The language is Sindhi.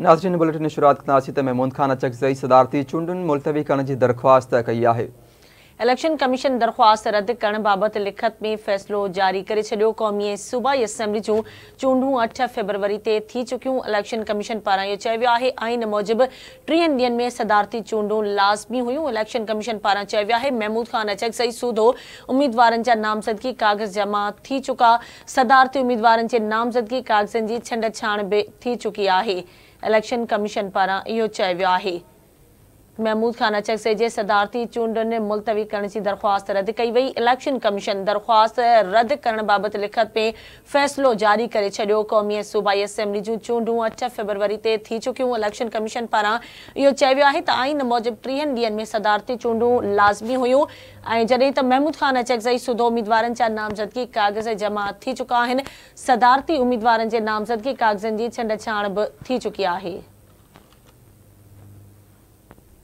ناظرين بليٽن جي شروعات ڪنداسين ته محمود خان اچڪزئي صدارتي چونڊن ملتوي ڪرڻ جي درخواست ڪئي آهي. اليڪشن ڪميشن درخواست رد ڪرڻ بابت لکت ۾ فيصلو جاري ڪري ڇڏيو. قومي ۽ صوبائي اسيمبلي جون چونڊون 8 فيبروري تي ٿي چڪيون. اليڪشن ڪميشن پاران اهو چيو ويو آهي آئين موجب ٽيهن ڏينهن ۾ صدارتي چونڊون لازمي هيون. اليڪشن ڪميشن پاران چيو ويو آهي محمود خان اچڪزئي سوڌو اميدوارن جا نامزدگي ڪاغذ جمع ٿي چڪا. صدارتي اميدوارن جي نامزدگي ڪاغذن جي ڇنڊ ڇاڻ به ٿي چڪي آهي. اليڪشن ڪميشن پاران اهو چيو ويو آهي. محمود خان اچڪزئي جي صدارتي چونڊن ملتوي ڪرڻ جي درخواست رد ڪئي وئي. اليڪشن ڪميشن درخواست رد ڪرڻ بابت لکت ۾ فيصلو جاري ڪري ڇڏيو. قومي ۽ صوبائي اسيمبلي جون چونڊون 8 فيبروري تي ٿي چڪيون. اليڪشن ڪميشن پاران اهو چيو ويو آهي ته آئين موجب ٽيهن ڏينهن ۾ صدارتي چونڊون لازمي هيون ۽ جڏهن ته محمود خان اچڪزئي سوڌو اميدوارن جا نامزدگي ڪاغذ جمع ٿي چڪا آهن. صدارتي اميدوارن جي نامزدگي ڪاغذن جي ڇنڊ ڇاڻ به ٿي چڪي آهي.